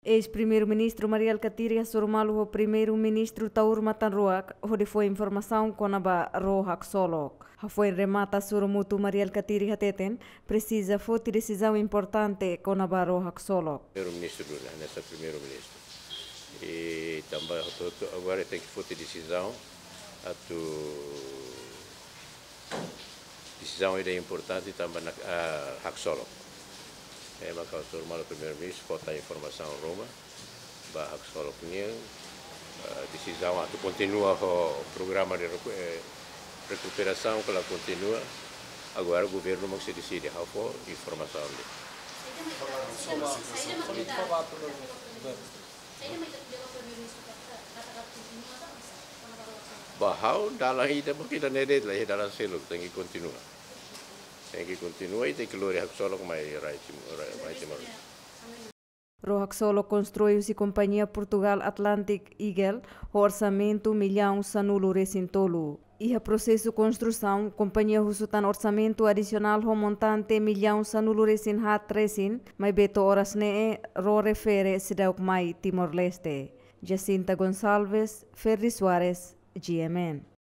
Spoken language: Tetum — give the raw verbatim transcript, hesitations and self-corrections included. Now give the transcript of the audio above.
Eis-Primeiru-Ministru Mari Alkatiri hasoru malu ho Primeiru-Ministru Taur Matan Ruak hodi fó informasaun kona-ba ró haksolok. Hafoin remata hasoru mutu, Mari Alkatiri hateten presiza foti desizaun importante kona-ba ró haksolok. Primeiru-Ministru duni, hanesan Primeiru-Ministru. I tanba hotu-hotu agora tenke foti desizaun atu desizaun ida importante tanba na, ah, haksolok. Ema, ha'u hasoru malu Primeiru-Ministru, fó tan informasaun ruma ba haksolok nian, ah, desizaun atu kontinua ho programa de recu-, eh, rekuperasaun ka la kontinua. Agora governu mak sei deside, ha'u fó informasaun de'it. Ba ha'u dalan ida mak ida-ne'e de'it, la iha dalan seluk, tenke kontinua. Tenke kontinua i tenke lori haksolok mai rai Tim-, rai, mai Timor. Ró haksolok konstrui husi kompañia Portugal Atlantic Eagle ho orsamentu millaun sanulu-resin-tolu. Iha prosesu konstrusaun, kompañia husu tan orsamentu adisionál ho montante millaun sanulu-resin-haat resin, maibé to'o oras ne'e ró refere seidauk mai Timor-Leste. Jacinta Gonçalves, Ferdi Soares, G M N.